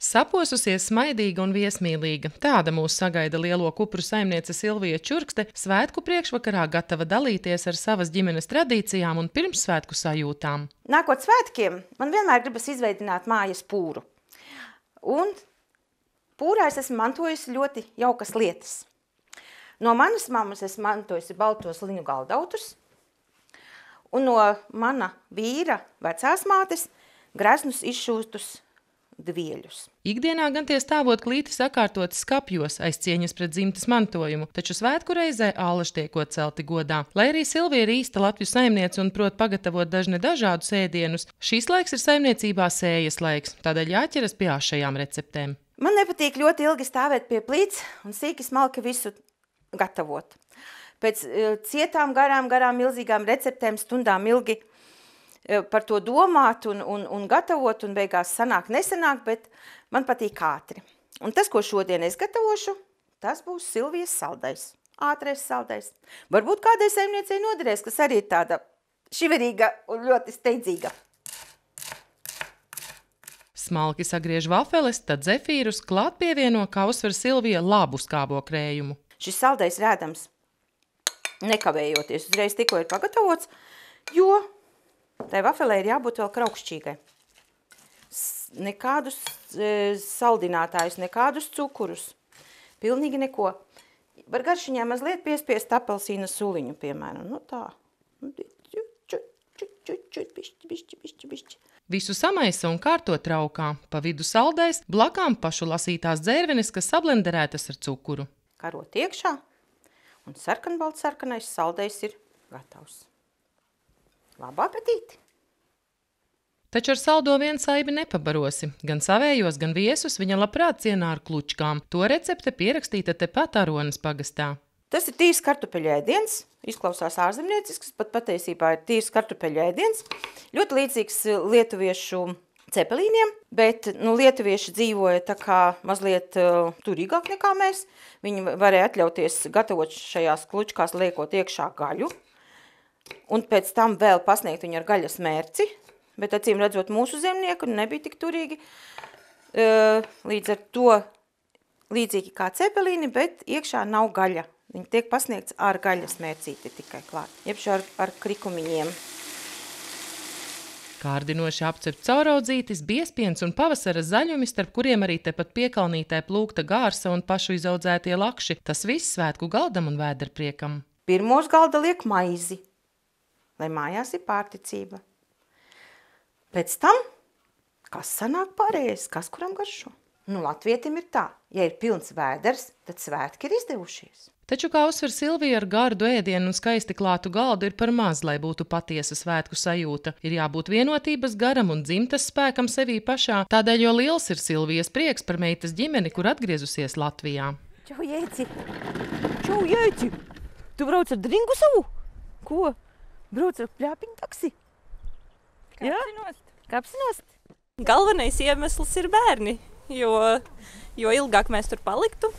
Saposusies, smaidīga un viesmīlīga. Tāda mūs sagaida lielo kupru saimniece Silvija Čurkste, svētku priekšvakarā gatava dalīties ar savas ģimenes tradīcijām un pirmssvētku sajūtām. Nākot svētkiem, man vienmēr gribas izveidināt mājas pūru. Un pūrā es esmu mantojusi ļoti jaukas lietas. No manas mammas esmu mantojusi baltos liņu galdautus, un no mana vīra vecās mātes greznus izšūstus dvieļus. Ikdienā gan tie stāvot klīti sakārtoti skapjos aiz cieņas pret dzimtes mantojumu, taču svētku reizē ālaši tiekot celti godā. Lai arī Silvija ir īsta Latviju saimniece un prot pagatavot dažne dažādus ēdienus, šīs laiks ir saimniecībā sējas laiks, tādēļ jāķeras pie āšajām receptēm. Man nepatīk ļoti ilgi stāvēt pie plīts un sīki smalki visu gatavot. Pēc cietām garām milzīgām receptēm stundām ilgi par to domāt un gatavot, un beigās sanāk nesanāk, bet man patīk ātri. Un tas, ko šodien es gatavošu, tas būs Silvijas saldais, ātrais saldais. Varbūt kādai saimniecei noderēs, kas arī ir tāda šiverīga un ļoti steidzīga. Smalki sagriež vafeles, tad zefīrus, klāt pievieno, kā uzsver Silvija, labu skābo krējumu. Šis saldais rēdams nekavējoties, uzreiz tikko ir pagatavots, jo tai vafelē ir jābūt vēl kraukšķīgai. Nekādus saldinātājus, nekādus cukurus. Pilnīgi neko. Var garšiņā mazliet piespiest apelsīna suliņu, piemēram. Nu tā. Bišķi. Visu samaisa un kārto traukā. Pa vidu saldais, blakām pašu lasītās dzērvenes, kas sablenderētas ar cukuru. Karot iekšā, un sarkanbalts-sarkanais saldais ir gatavs. Labu apetīti! Taču ar saldo vien saibi nepabarosi. Gan savējos, gan viesus viņa labprāt cienā ar klučkām. To recepte pierakstīta tepat Aronas pagastā. Tas ir tīrs kartupeļu ēdiens. Izklausās ārzemniecisks, pat patiesībā ir tīrs kartupeļu ēdiens. Ļoti līdzīgs lietuviešu cepelīniem, bet lietuvieši dzīvoja tā kā mazliet turīgāk nekā mēs. Viņi varēja atļauties gatavot šajās klučkās, liekot iekšā gaļu. Un pēc tam vēl pasniegt viņu ar gaļas mērci, bet acīm redzot mūsu zemnieku nebija tik turīgi. Līdz ar to līdzīgi kā cepelīni, bet iekšā nav gaļa. Viņi tiek pasniegts ar gaļas mērcīti tikai klāt, jebši ar krikumiņiem. Kārdinoši apcept cauraudzītis, biezpiens un pavasara zaļumi, starp kuriem arī tepat piekalnītē plūkta gārsa un pašu izaudzētie lakši. Tas viss svētku galdam un vēderpriekam. Pirmos galda liek maizi, lai mājās ir pārticība. Pēc tam, kas sanāk pārējais, kas kuram garšo? Latvietim ir tā, ja ir pilns vēders, tad svētki ir izdevušies. Taču, kā uzsver Silvija, ar gardu ēdienu un skaisti klātu galdu ir par maz, lai būtu patiesa svētku sajūta. Ir jābūt vienotības garam un dzimtas spēkam sevī pašā, tādēļ jo liels ir Silvijas prieks par meitas ģimeni, kur atgriezusies Latvijā. Čau, Jēci! Tu brauc ar dringu savu? Ko? Brauc ar pļāpiņu taksi? Kapsinost. Galvenais iemesls ir bērni, jo ilgāk mēs tur paliktu,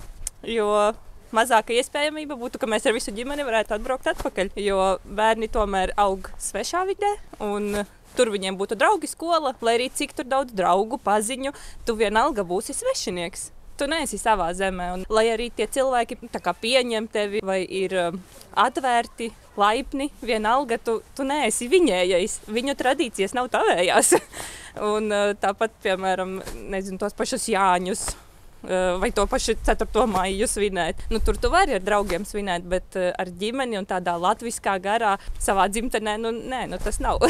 jo mazāka iespējamība būtu, ka mēs ar visu ģimeni varētu atbraukt atpakaļ, jo bērni tomēr aug svešā vidē un tur viņiem būtu draugi skola, lai arī cik tur daudz draugu, paziņu, tu vienalga būsi svešinieks. Tu neesi savā zemē, un lai arī tie cilvēki tā kā pieņem tevi vai ir atvērti, laipni, vienalga tu neesi viņējais, viņu tradīcijas nav tavējās. Un tāpat, piemēram, tos pašus Jāņus vai to pašu 4. maiju svinēt. Tur tu vari ar draugiem svinēt, bet ar ģimeni un tādā latviskā garā savā dzimtenē, tas nav.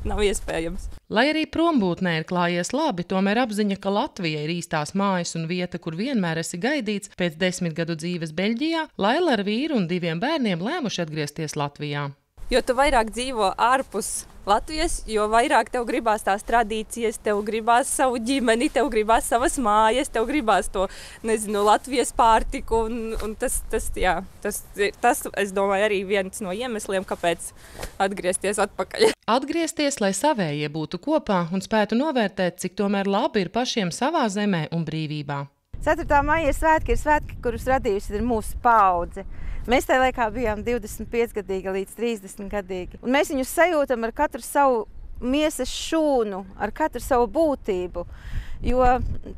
Nav iespējams. Lai arī prombūtnē ir klājies labi, tomēr apziņa, ka Latvija ir īstās mājas un vieta, kur vienmēr esi gaidīts, pēc 10 gadu dzīves Beļģijā, Laila ar vīru un 2 bērniem lēmuši atgriezties Latvijā. Jo tu vairāk dzīvo ārpus Latvijas, jo vairāk tev gribās tās tradīcijas, tev gribās savu ģimeni, tev gribās savas mājas, tev gribās to, Latvijas pārtiku, un tas, es domāju, arī viens no iemesliem, kāpēc atgriezties atpakaļ. Atgriezties, lai savējie būtu kopā un spētu novērtēt, cik tomēr labi ir pašiem savā zemē un brīvībā. 4. maija ir svētki, kurus radījusi ir mūsu paudze. Mēs tajā laikā bijām 25 gadīgi līdz 30 gadīgi. Un mēs viņus sajūtam ar katru savu miesas šūnu, ar katru savu būtību. Jo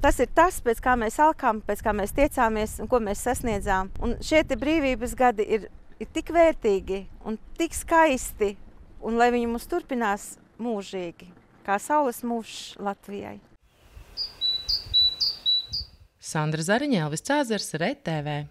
tas ir tas, pēc kā mēs alkām, pēc kā mēs tiecāmies un ko mēs sasniedzām. Un šie te brīvības gadi ir tik vērtīgi un tik skaisti, un lai viņi mums turpinās mūžīgi, kā saules mūžs Latvijai. Sandra Zariņa, Elvis Cāzars, RTV.